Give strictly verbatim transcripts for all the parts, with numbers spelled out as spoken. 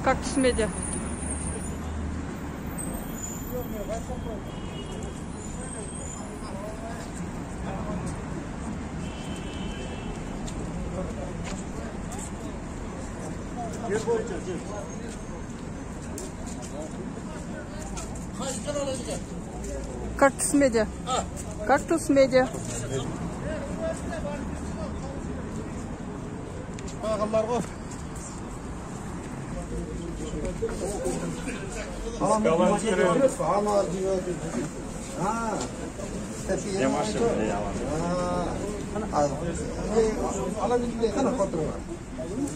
Кактус медиа. Кактус медиа. Кактус медиа.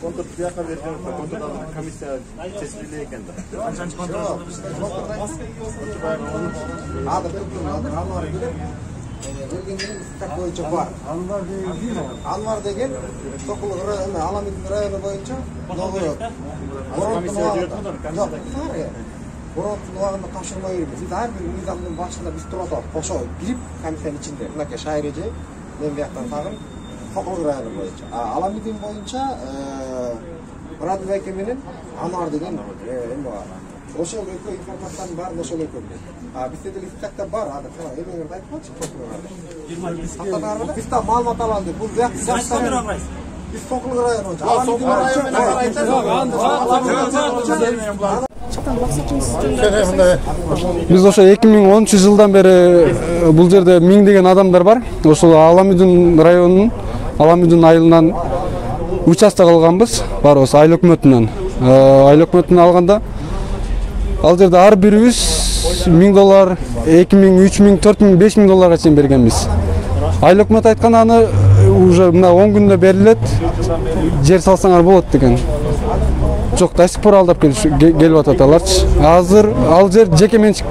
Контур бияка берген, контурдан комиссия чечиле экен да. Канчанчы контур? боюнча бар. Анвар деген Сокулук району, Аламидин району боюнча Новгород. Борооттун убагында тапшырма беребиз. Биз ар бир мыйзамдын башында биз туруп атабыз. Кошо бирип комиссиянын ичинде. Мынакей Шайыр эже, мен бияктан тагын Сокулук району боюнча. Аламидин боюнча Радыбек эке менен Анвар деген эме бар. Ошол экөө информациянын баарын ошол экөө билет. А бизде деле исчатта бар, ада эмеңерди айтып коечу. Биз да маалымат алалы. Бул бияк жаштар. Биз Сокулук району. Аламидин району. Биз ошо эки миң онунчу жылдан бери бул жерде миңдеген адамдар бар. Ошол Аламидин районунун Аламидин айылынан участок алганбыз. Барыбыз айыл өкмөтүнөн. Айыл өкмөтүнөн алганда ал жерде ар бирибиз миң доллар, эки миң, үч миң, төрт миң, беш миң долларга чейин бергенбиз. Айыл өкмөт айткан аны уже мына он күндө берилет, жер салсаңар болот деген. Жок, до сих пор алдап келип атат аларчы. Азыр ал жер жеке менчик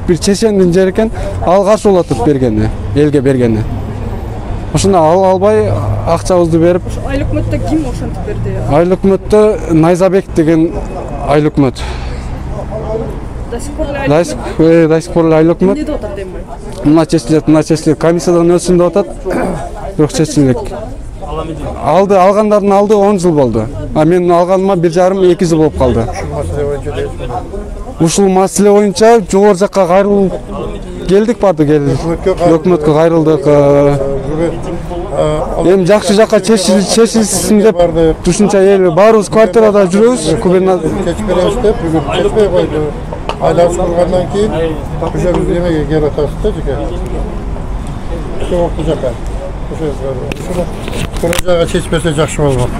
бир чечендин жери экен, ал каршы болуп атат бергени, элге бергени. Ошону ал албай акчабызды берип. Айыл өкмөттө ким ошентип берди? Айыл өкмөттө Найзабек деген айыл өкмөт. До сих пор айыл өкмөт? До сих пор айыл өкмөт. Эмне деп атат эми? Мына чечилет, мына чечилет. Комиссиядан өтсүн деп атат. Бирок чечилбек. Алды, алгандардын алды он жыл болду. А мен алганыма бир жарым эки жыл болуп калды. Ушул маселе боюнча жогору жакка кайрылып келдик, барды келдик. Өкмөткө кайрылдык. Эми жакшы жакка чечилсин деп ушунча эл баарыбыз квартирада жүрөбүз. Губернатор чечип беребиз деп бүгүн чечпей койду. Айлап чыккандан кийин ошо биз эмеге келип атабыз да жеке. Ошо бул жака. Ошо бул жака чечпесе жакшы болмок.